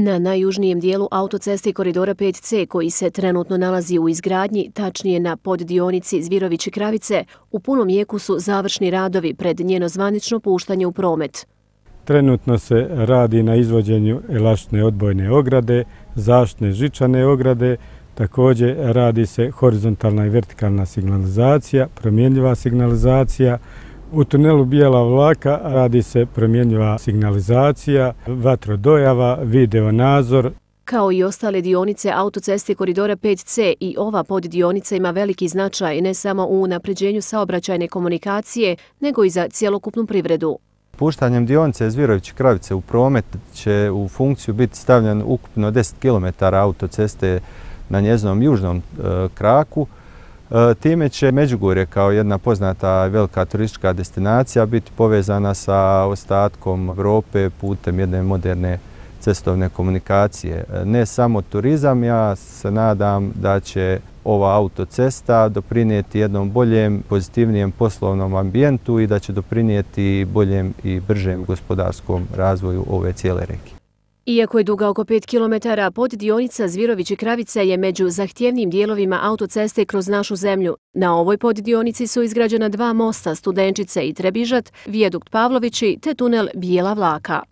Na najjužnijem dijelu autoceste koridora 5C, koji se trenutno nalazi u izgradnji, tačnije na poddionici Zvirovići-Kravice, u punom jeku su završni radovi pred njeno zvanično puštanje u promet. Trenutno se radi na izvođenju elastične odbojne ograde, zaštitne žičane ograde, također radi se horizontalna i vertikalna signalizacija, promjenjiva signalizacija. U tunelu Bijela Vlaka radi se promjenjiva signalizacija, vatrodojava, video nadzor. Kao i ostale dionice autoceste koridora 5C, i ova poddionica ima veliki značaj ne samo u unapređenju saobraćajne komunikacije, nego i za cjelokupnu privredu. Puštanjem dionice Zvirovići-Kravice u promet će u funkciju biti stavljen ukupno 10 km autoceste na njezinom južnom kraku. Time će Međugorje kao jedna poznata velika turistička destinacija biti povezana sa ostatkom Europe putem jedne moderne cestovne komunikacije. Ne samo turizam, ja se nadam da će ova autocesta doprinijeti jednom boljem, pozitivnijem poslovnom ambijentu i da će doprinijeti boljem i bržem gospodarskom razvoju ove cijele regije. Iako je duga oko 5 km, poddionica Zvirovići-Kravice je među zahtjevnijim dijelovima autoceste kroz našu zemlju. Na ovoj poddionici su izgrađena 2 mosta, Studenčice i Trebižat, vijadukt Pavlovići te tunel Bijela Vlaka.